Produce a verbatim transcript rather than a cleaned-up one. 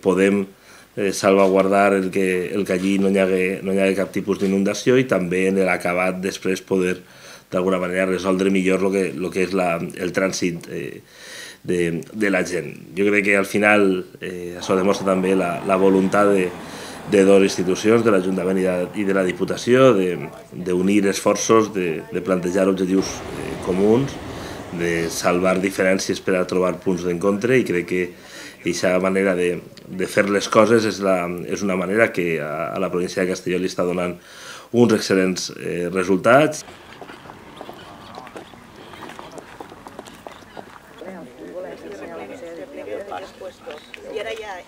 Podem eh, salvaguardar el que, el que allí no hi hagi, no hi hagi cap tipus d'inundació i també en l'acabat després poder d'alguna manera resoldre millor el que, lo que és la, el trànsit eh, de, de la gent. Jo crec que al final eh, això demostra també la, la voluntat de, de dues institucions, de l'Ajuntament i, de, i de la Diputació, d'unir esforços, de, de plantejar objectius eh, comuns, de salvar diferències per a trobar punts d'encontre, i crec que aquesta manera de, de fer les coses és, la, és una manera que a, a la província de Castelló li està donant uns excel·lents eh, resultats. Y ahora ya...